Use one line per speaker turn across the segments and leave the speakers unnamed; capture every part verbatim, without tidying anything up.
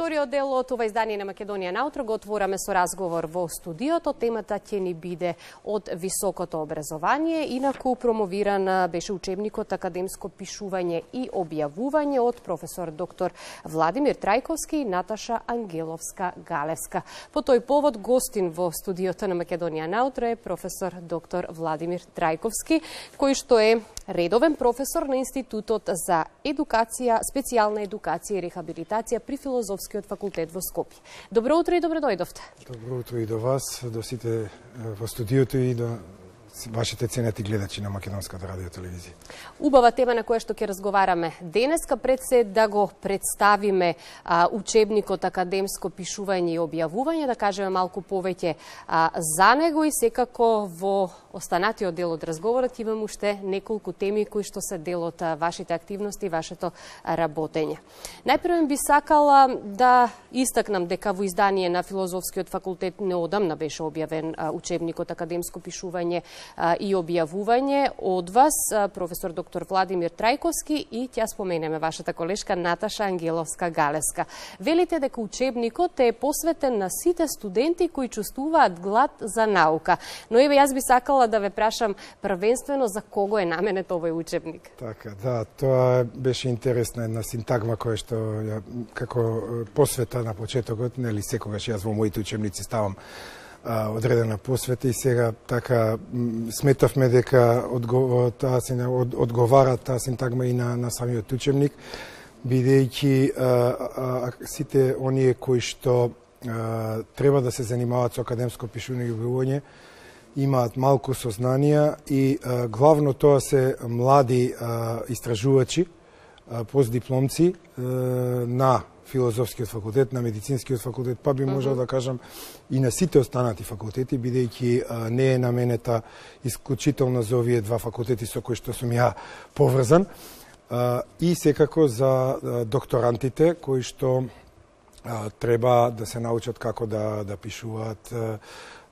вториот дел од ова издание на Македонија наутро го отвораме со разговор во студиото. Темата ќе ни биде од високото образование. Инаку промовиран беше учебникот Академско пишување и објавување од професор доктор Владимир Трајковски и Наташа Ангеловска-Галевска. По тој повод гостин во студиото на Македонија наутро е професор доктор Владимир Трајковски, кој што е редовен професор на Институтот за едукација, специјална едукација и рехабилитација при Филозофскиот факултет во Скопје. Добро утро и добро дојдовте.
Добро утро и до вас, до сите во студиото и до вашите ценети гледачи на Македонската радио телевизија.
Убава тема на која што ќе разговараме денеска, пред се да го представиме а, учебникот Академско пишување и објавување, да кажеме малку повеќе а, за него и секако во останатиот дел од разговорот имам уште неколку теми кои што се дел од вашите активности и вашето работење. Најпрво би сакала да истакнам дека во издание на Филозофскиот факултет неодамна беше објавен а, учебникот Академско пишување и објавување од вас, професор доктор Владимир Трајковски и ќе споменеме вашата колешка Наташа Ангеловска-Галевска. Велите дека учебникот е посветен на сите студенти кои чувствуваат глад за наука. Но еве јас би сакала да ве прашам првенствено за кого е наменет овој учебник.
Така, да, тоа беше интересна една синтагма која што ја, како посвета на почетокот, нели секогаш јас во моите учебници ставам одредена посвета и сега така сметавме дека одго, таа се од, одговара таа синтагма и на, на самиот учебник, бидејќи сите оние кои што а, треба да се занимаваат со академско пишување и објавување имаат малку сознанија и а, главно тоа се млади а, истражувачи, а, постдипломци а, на Филозофскиот факултет, на Медицинскиот факултет, па би можел да кажам и на сите останати факултети, бидејќи не е наменета исклучително за овие два факултети со кои што сум ја поврзан, а, и секако за а, докторантите кои што а, треба да се научат како да, да пишуваат а,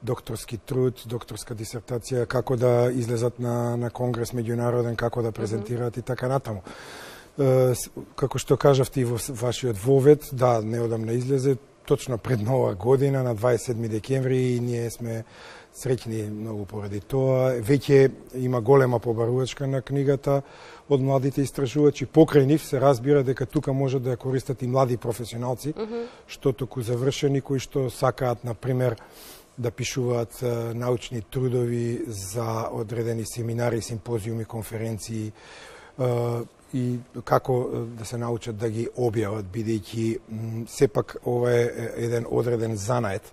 докторски труд, докторска дисертација, како да излезат на, на конгрес меѓународен, како да презентираат mm-hmm. и така натаму. Како што кажавте и во вашиот вовед, да, неодамна излезе, точно пред нова година, на дваесет и седми декември, и ние сме среќни многу поради тоа. Веќе има голема побарувачка на книгата од младите истражувачи. Покрај нив се разбира дека тука може да ја користат и млади професионалци, mm-hmm. што току завршени, кои што сакаат, например, да пишуваат научни трудови за одредени семинари, симпозиуми, конференции, и како да се научат да ги објават, бидејќи сепак ова е еден одреден занает.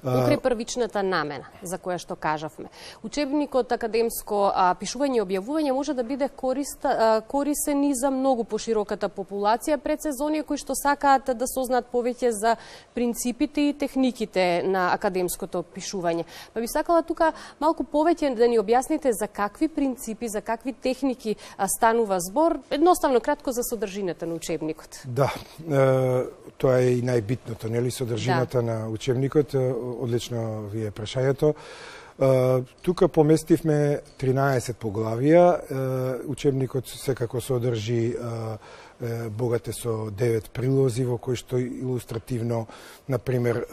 Покрај првичната намена, за која што кажавме. Учебникот Академско а, пишување и објавување може да биде корист, а, корисен и за многу пошироката популација, пред се за оние кои што сакаат да сознаат повеќе за принципите и техниките на академското пишување. Па би сакала тука малку повеќе да ни објасните за какви принципи, за какви техники а, станува збор, едноставно кратко за содржината на учебникот.
Да, е, тоа е и најбитното, нели, содржината да. на учебникот. Одлично ви е прашањето. Тука поместивме тринаесет поглавија. Учебникот секако содржи богате со девет прилози во кои што илустративно, например,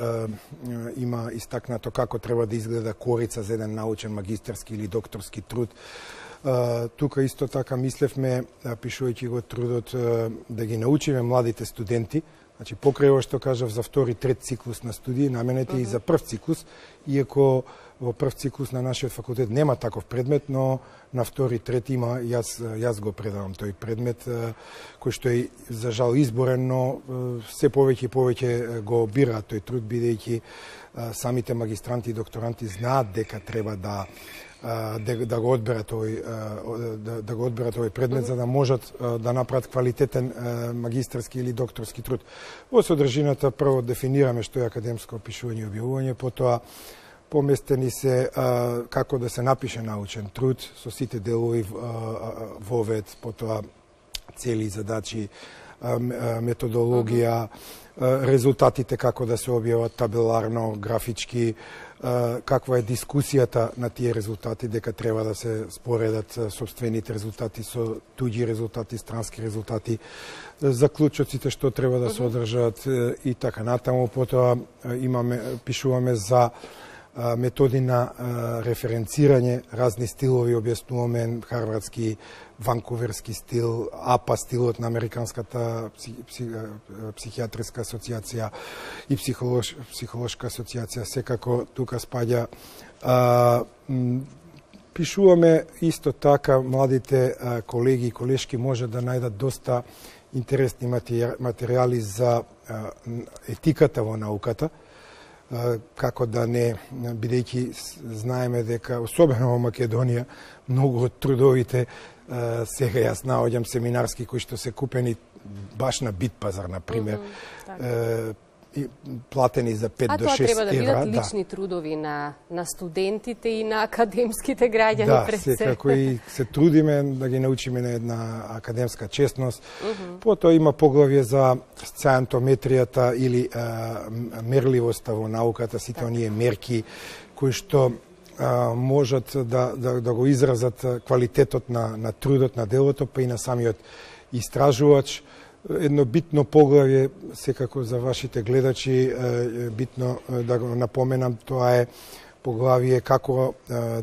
има истакнато како треба да изгледа корица за еден научен магистерски или докторски труд. Тука исто така мислевме, пишувајќи го трудот, да ги научиме младите студенти. Значи, покрај ова што кажав за втори, трет циклус на студии, наменете uh-huh. и за прв циклус, иако во прв циклус на нашиот факултет нема таков предмет, но на втори, трет има, јас, јас го предавам тој предмет, кој што е за жал изборен, но се повеќе и повеќе го бираат тој труд, бидејќи самите магистранти и докторанти знаат дека треба да Да, да го одберат овој да, да го одберат овој предмет, за да можат да направат квалитетен магистерски или докторски труд. Во содржината прво дефинираме што е академско пишување и објавување, потоа поместени се а, како да се напише научен труд со сите делови вовед, потоа цели, задачи, методологија, резултатите како да се објават табеларно, графички, каква е дискусијата на тие резултати, дека треба да се споредат собствените резултати со туѓи резултати, странски резултати, заклучоците што треба да се одржат и така натаму. Потоа имаме, пишуваме за методи на референцирање, разни стилови, објаснуваме харвардски, ванкуверски стил, АПА стилот на Американската психијатриска асоциација и психолош, психолошка асоциација, секако тука спаѓа. А, пишуваме исто така, младите а, колеги и колешки може да најдат доста интересни материјали за а, етиката во науката, како да не, бидејќи знаеме дека, особено во Македонија, многу од трудовите, сега јас наоѓам семинарски кои што се купени баш на Битпазар, например, mm -hmm, платени за пет до шест евра.
А тоа треба да бидат лични да. трудови на, на студентите и на академските граѓани
да,
пред се. Да,
секако и се трудиме да ги научиме на една академска честност. Mm -hmm. Потоа има поглавје за сциентометријата или а, мерливоста во науката, сите оние мерки кои што а, можат да, да, да го изразат квалитетот на, на трудот, на делото, па и на самиот истражувач. Едно битно поглавје, секако за вашите гледачи, битно да го напоменам, тоа е поглавје како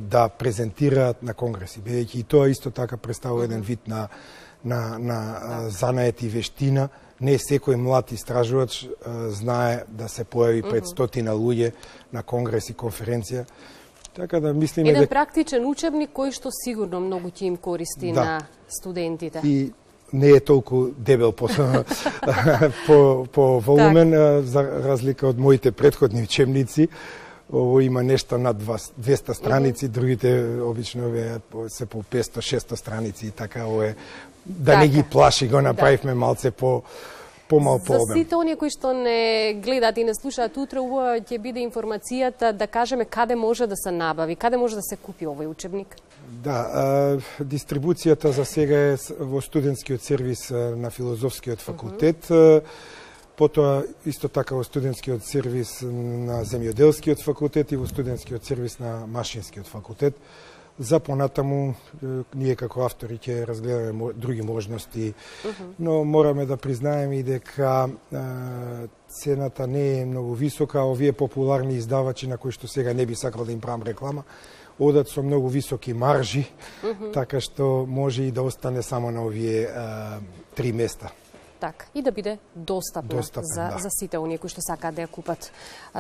да презентираат на конгреси, бидејќи и тоа исто така представува еден вид на, на, на занает и вештина. Не секој млад истражувач знае да се појави пред стотина луѓе на конгрес и конференција. Така да мислиме
еден дека... практичен учебник кој што сигурно многу ќе им користи да. на студентите.
И не е толку дебел по, по, по волумен, так. за разлика од моите претходни учебници. Ово има нешто над двеста страници, mm -hmm. другите обично се по петсто-шесто страници и така, ово е, да така. не ги плаши, го направивме да. малце по помал по обем.
За сите оние кои што не гледаат и не слушаат утре, убава ќе биде информацијата да кажеме каде може да се набави, каде може да се купи овој учебник?
Да, а, дистрибуцијата за сега е во студентскиот сервис на Филозофскиот факултет, uh -huh. потоа исто така во студентскиот сервис на Земјоделскиот факултет и во студентскиот сервис на Машинскиот факултет. За понатаму, ние како автори ќе разгледаме други можности, uh -huh. но мораме да признаеме и дека а, цената не е многу висока, а овие популарни издавачи на кои што сега не би сакал да им правам реклама, одат со многу високи маржи, uh -huh. така што може и да остане само на овие а, три места.
Так, и да биде достапна
Достапен,
за,
да.
за сите оние кои што сакаат да ја купат,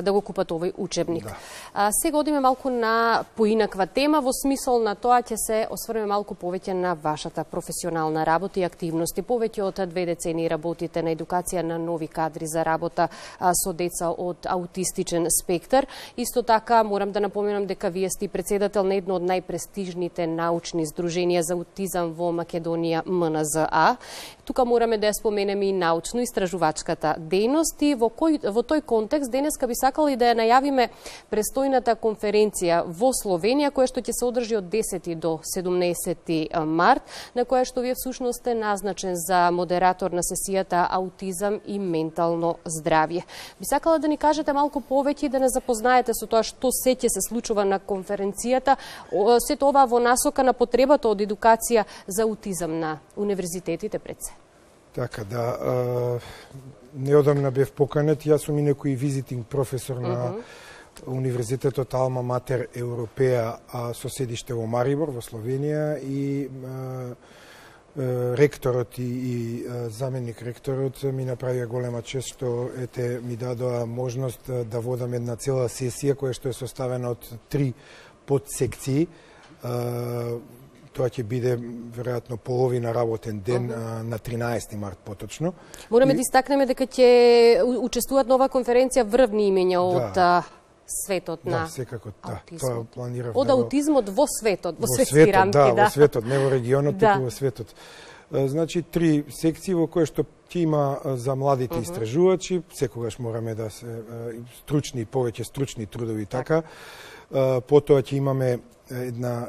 да го купат овој учебник.
Да.
А, сега одиме малку на поинаква тема, во смисол на тоа ќе се осврнеме малку повеќе на вашата професионална работа и активности. Повеќе од две децении работите на едукација на нови кадри за работа а, со деца од аутистичен спектар. Исто така морам да напоменам дека вие сте председател на едно од најпрестижните научни здруженија за аутизам во Македонија, М Н З А. Тука мораме да ја споменеме и научно-истражувачката дејност и во, кој, во тој контекст денеска би сакали да ја најавиме престојната конференција во Словенија, која што ќе се одржи од десети до седумнаесети март, на која што вие всушност сте назначен за модератор на сесијата Аутизам и ментално здравје. Би сакала да ни кажете малку повеќе и да не запознаете со тоа што се ќе се случува на конференцијата, сето ова во насока на потребата од едукација за аутизам на универзитетите пред се.
Така да, а, неодамна бев поканет, јас сум и некој визитинг професор на uh -huh. Универзитетот Алма Матер Европеа, а со седиште во Марибор, во Словенија, и а, а, ректорот и, и а, заменик ректорот ми направија голема чест што ете ми дадоа можност да водам една цела сесија која што е составена од три подсекции. А, Тоа ќе биде веројатно половина работен ден uh -huh. на тринаесети март поточно.
Мораме и... да истакнеме дека ќе учествуваат нова конференција врвни имења од да. светот
да,
на
секако, да.
аутизмот.
Тоа планирав
од
да го...
аутизмот во светот, во, во
светски
рамки,
да,
да.
Во светот, не во регионот,
да.
туку во светот. Значи, три секции во кои што ќе има за младите uh -huh. истражувачи, секогаш мораме да се стручни, повеќе стручни трудови така. Потоа ќе имаме една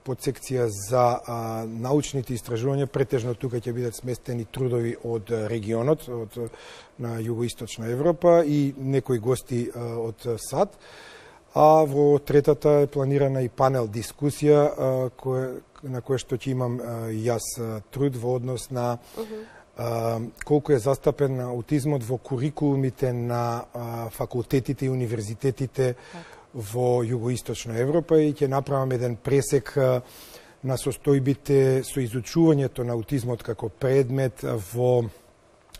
подсекција за а, научните истражувања, претежно тука ќе бидат сместени трудови од регионот, од на југоисточна Европа и некои гости а, од САД. А во третата е планирана и панел дискусија а, кој, на која што ќе имам а, јас труд во однос на uh -huh. а, колку е застапен аутизмот во курикулумите на а, факултетите и универзитетите во југоисточна Европа и ќе направам еден пресек на состојбите со изучувањето на аутизмот како предмет во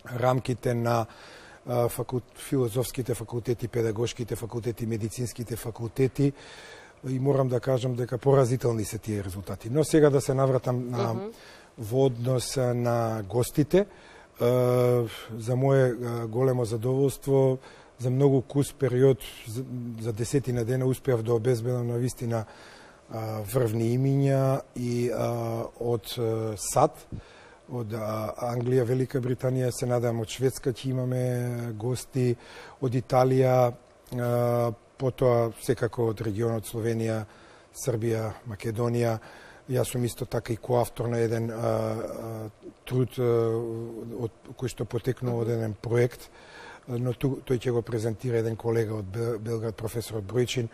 рамките на факулт, филозофските факултети, педагошките факултети, медицинските факултети и морам да кажам дека поразителни се тие резултати. Но сега да се навратам на uh -huh. во однос на гостите. За мое големо задоволство, за многу кус период, за десетина дена, успеав да обезбедам на вистина врвни имиња и а, од САД, од Англија, Велика Британија, се надам од Шведска ќе имаме гости, од Италија, а, потоа секако од регионот Словенија, Србија, Македонија. Јас сум исто така и коавтор на еден а, а, труд а, од, кој што потекнува од еден проект, но ту, тој ќе го презентира еден колега од Белград, професорот Бројчин,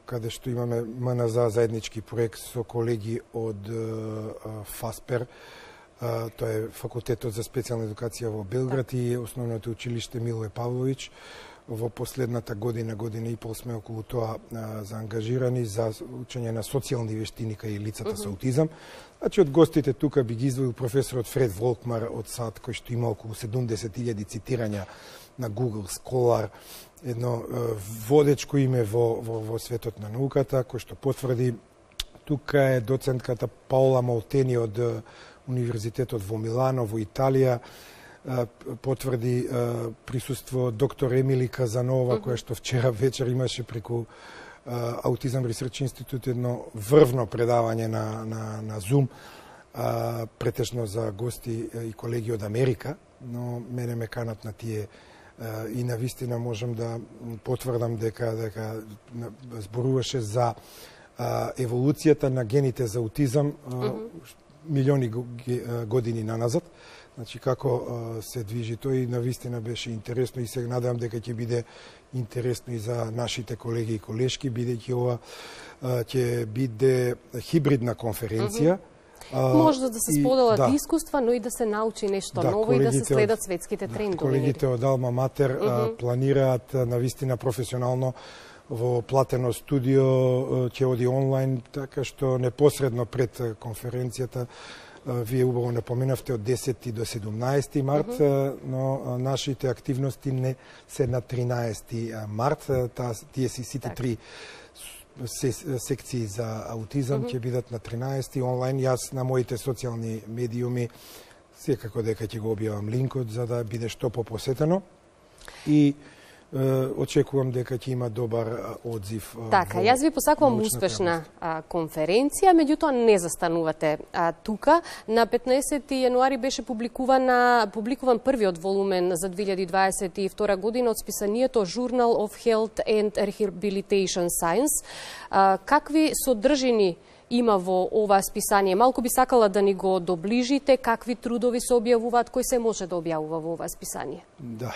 каде што имаме М Н З заеднички проект со колеги од ФАСПЕР, тоа е Факултетот за специјална едукација во Белград и Основното училиште Милоје Павловиќ. Во последната година, година и пол сме околу тоа заангажирани за учење на социјални вештини кај лицата uh -huh. со аутизам. Значи, од гостите тука би ги издвоил професорот Фред Волкмар од САД, кој што има околу седумдесет илјади цитирања на Google Scholar, едно водечко име во, во, во светот на науката, кој што потврди. Тука е доцентката Паула Молтени од Универзитетот во Милано, во Италија, потврди присуство доктор Емили Казанова, uh -huh. која што вчера вечер имаше преку Аутизам Ресерч Институт едно врвно предавање на, на, на Zoom, претежно за гости и колеги од Америка, но мене ме канат на тие и на вистина можам да потврдам дека, дека зборуваше за еволуцијата на гените за аутизам uh -huh. милиони години наназад. Значи, како се движи тој и навистина беше интересно и се надевам дека ќе биде интересно и за нашите колеги и колешки, бидејќи ова ќе биде хибридна конференција.
Uh -huh. Може да се споделат да. искуства, но и да се научи нешто
да,
ново и да се следат светските
да,
трендови.
Колегите од Алма Матер uh -huh. планираат навистина професионално во платено студио, ќе оди онлайн, така што непосредно пред конференцијата. Вие убаво напоменавте од десети до седумнаесети март, uh -huh. но нашите активности не се на тринаесети март. Та, тие си сите так. три секции за аутизам ќе uh -huh. бидат на тринаесети онлайн. Јас на моите социјални медиуми секако дека ќе го објавам линкот за да биде што попосетено. И очекувам дека ќе има добар одзив.
Така, јас ви посакувам успешна а, конференција, меѓутоа не застанувате а, тука. На петнаесети јануари беше публикувана, публикуван првиот волумен за две илјади дваесет и втора година од списанието Journal of Health and Rehabilitation Science. А, какви содржини има во ова списание? Малку би сакала да ни го доближите, какви трудови се објавуваат, кој се може да објавува во ова списание?
Да,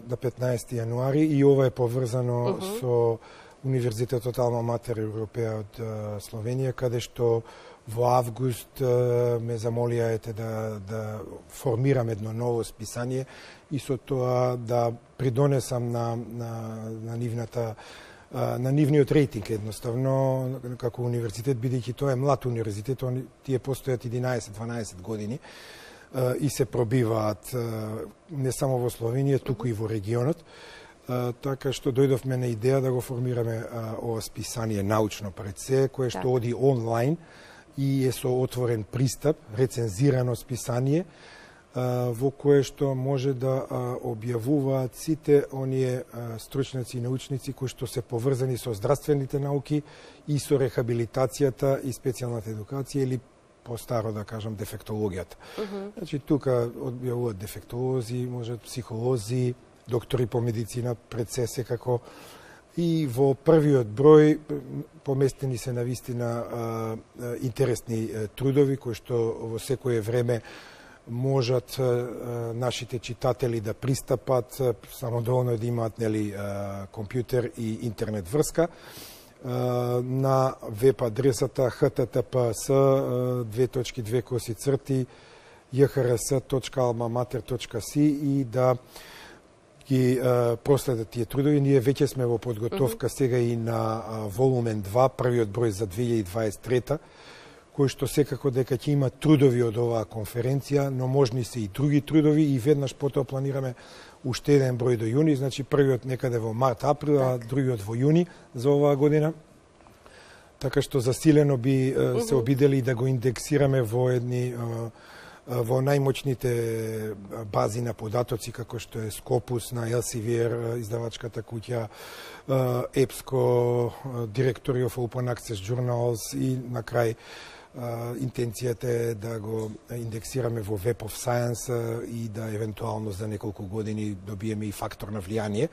на петнаесети јануари и ова е поврзано uh -huh. со Универзитетот Алма Матер Европеа од Словенија, каде што во август ме замолија да, да формирам едно ново списание и со тоа да придонесам на, на, на нивната на нивниот рейтинг едноставно како универзитет, бидејќи тоа е млад универзитет, тие постојат единаесет-дванаесет години и се пробиваат не само во Словенија, туку и во регионот. Така што дојдовме на идеја да го формираме ова списание научно пред се, кое што оди онлайн и е со отворен пристап, рецензирано списание, во кое што може да објавуваат сите оние стручници и научници кои што се поврзани со здравствените науки и со рехабилитацијата и специјалната едукација или по-старо да кажам дефектологијата.
Uh -huh.
Значи тука одбијавуваат дефектолози, можат психолози, доктори по медицина, пред се секако. И во првиот број поместени се навистина интересни трудови кои што во секое време можат нашите читатели да пристапат, само доволно да имаат нели компјутер и интернет врска на веб адресата х т т п с две точки две коси црти j h r s точка alma mater точка s i и да ги проследат тие трудови. Ние веќе сме во подготовка сега и на волумен два, првиот број за две илјади дваесет и трета, кој што секако дека ќе има трудови од оваа конференција, но можни се и други трудови и веднаш потоа планираме уште еден број до јуни, значи првиот некаде во март, април, а другиот во јуни за оваа година. Така што засилено би се обидели да го индексираме во едни во најмоćните бази на податоци, како што е Scopus на Elsevier, издавачката куќа, EBSCO, Directory of Open Access Journals и на крај интенцијата е да го индексираме во Web of Science и да евентуално за неколку години добиеме и фактор на влијание.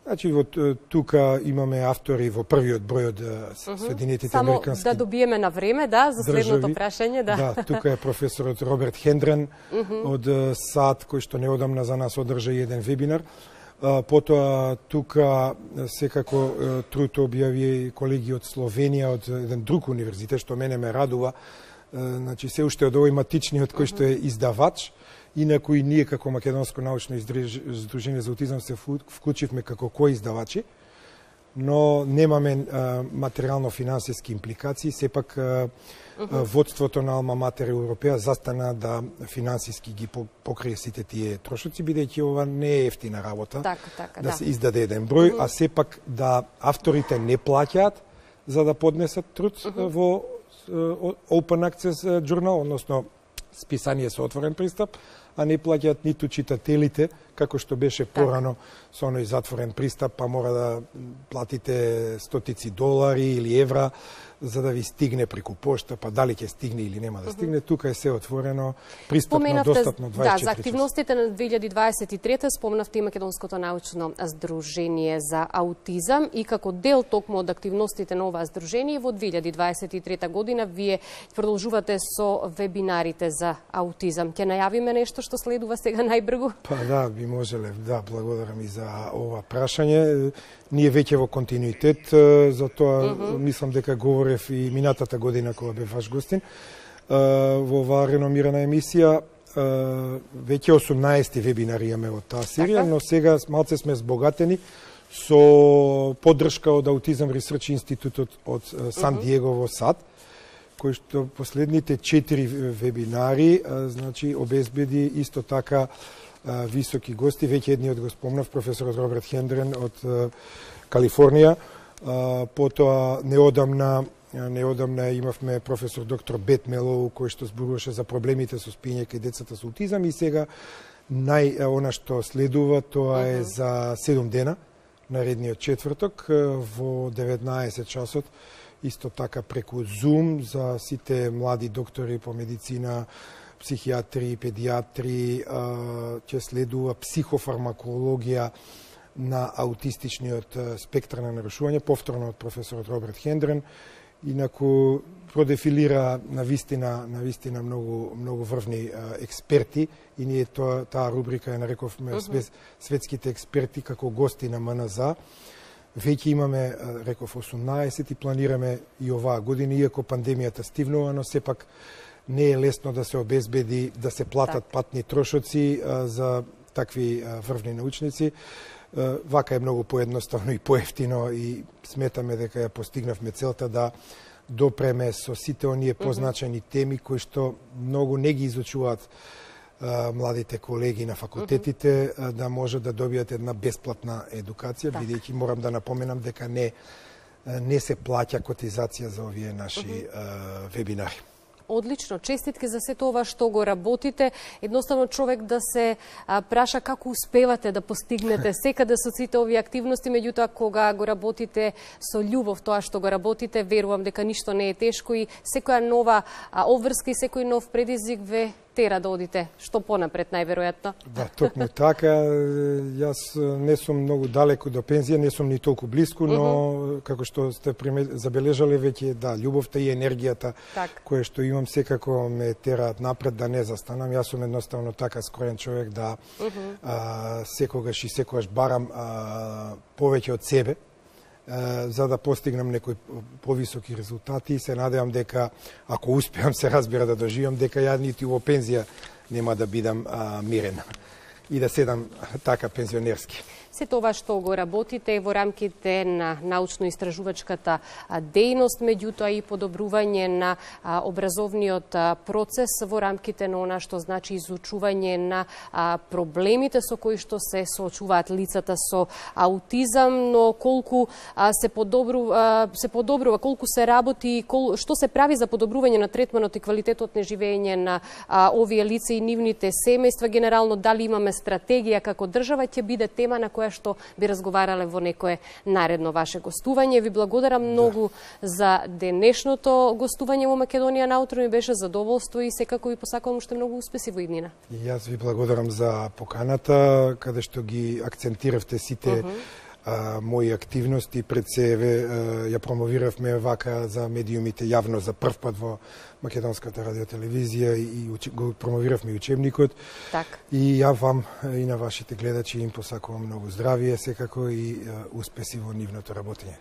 Значи, во тука имаме автори во првиот број од Соединетите Американски
Само да добиеме на време, да, за следното прашање, да.
Да, тука е професорот Роберт Хендрен од САД, кој што неодамна за нас одржа еден вебинар. Потоа тука секако труд објави колеги од Словенија, од еден друг универзитет, што мене ме радува. Значи, се уште од овој матичниот кој што е издавач. Инаку и ние како Македонско научно издружение за аутизам се вклучивме како коиздавачи, но немаме материјално-финансиски импликации. Сепак uh -huh. водството на Алма Матер Европеа застана да финансиски ги покрие сите тие трошоци, бидејќи ова не е ефтина работа,
така, така,
да,
да
се издаде еден број, uh -huh. а сепак да авторите не плаќаат за да поднесат труд uh -huh. во Open Access Journal, односно списание со отворен пристап, а не плаќаат ниту читателите, како што беше порано со оној затворен пристап, па мора да платите стотици долари или евра за да ви стигне преку пошта, па дали ќе стигне или нема да стигне. Тука е се отворено, пристапно, достапно дваесет и четири
Да, за активностите на две илјади дваесет и трета спомнавте и Македонското научно здружение за аутизам и како дел токму од активностите на оваа здружение во две илјади дваесет и трета година вие продолжувате со вебинарите за аутизам. Ќе најавиме нешто што следува сега најбрзо?
Па да, би можеле. Да, благодарам и за ова прашање. Ние веќе во континуитет, затоа uh -huh. мислам дека говорев и минатата година кога бев ваш гостин во оваа реномирана емисија. Веќе осумнаесет вебинари имаме од таа серија, но сега малце сме збогатени со поддршка од Аутизам Ресерч Институтот од Сан Диего во САД, кој што последните четири вебинари значи обезбеди исто така високи гости. Веќе едниот го спомнав, професорот Роберт Хендрен од Калифорнија. Потоа неодамна неодамна имавме професор доктор Бет Мелоу, кој што зборуваше за проблемите со спиење кај децата со аутизам, и сега нај она што следува тоа е за седум дена, наредниот четврток во деветнаесет часот, исто така преку Zoom за сите млади доктори по медицина, психијатри, педијатри, ќе следува психофармакологија на аутистичниот спектар на нарушување, повторно од професорот Роберт Хендрен. Инаку продефилира на вистина, на вистина многу многу врвни експерти и ние тоа таа рубрика ја нарековме uh -huh. светските експерти како гости на М Н З. Веќе имаме, реков, осумнаесет и планираме и оваа година, иако пандемијата стивнува, но сепак не е лесно да се обезбеди да се платат так. патни трошоци а, за такви а, врвни научници. А, вака е многу поедноставно и поевтино и сметаме дека ја постигнавме целта да допреме со сите оние позначени теми кои што многу не ги изучуваат а, младите колеги на факултетите, а, да може да добијат една бесплатна едукација, так. бидејќи морам да напоменам дека не не се плаќа котизација за овие наши а, вебинари.
одлично. Честитки за се тоа што го работите. Едноставно човек да се а, праша како успевате да постигнете секаде со сите овие активности, меѓутоа кога го работите со љубов тоа што го работите, верувам дека ништо не е тешко и секоја нова а, обврска и секој нов предизвик ве тера да одите што понапред најверојатно.
Да, токму така. Јас не сум многу далеку до пензија, не сум ни толку блиску, но uh -huh. како што сте забележале веќе, да, љубовта и енергијата
так.
која што имам секако ме тераат напред да не застанам. Јас сум едноставно така скроен човек да uh -huh. а, секогаш и секогаш барам а, повеќе од себе, за да постигнам некои повисоки резултати и се надевам дека ако успеам, се разбира, да доживам дека ја нити во пензија нема да бидам а, мирен и да седам така пензионерски.
Се тоа што го работите во рамките на научно-истражувачката дејност, меѓутоа и подобрување на образовниот процес во рамките на она што значи изучување на проблемите со кои што се соочуваат лицата со аутизам, но колку се подобрува, се подобрува, колку се работи, кол, што се прави за подобрување на третманот и квалитетот на живење на овие лица и нивните семејства, генерално дали имаме стратегија како држава, ќе биде тема на која што би разговарале во некое наредно ваше гостување. Ви благодарам многу да. за денешното гостување во Македонија на утро, ми беше задоволство и секако ви посакувам уште многу успеси во иднина.
И јас ви благодарам за поканата, каде што ги акцентиравте сите uh -huh. а, мои активности. Пред себе ја промовиравме вака за медиумите јавно за прв пат во Македонската радиотелевизија и го промовиравме и учебникот.
Так.
И ја вам и на вашите гледачи им посакувам многу здравие секако и успеси во нивното работење.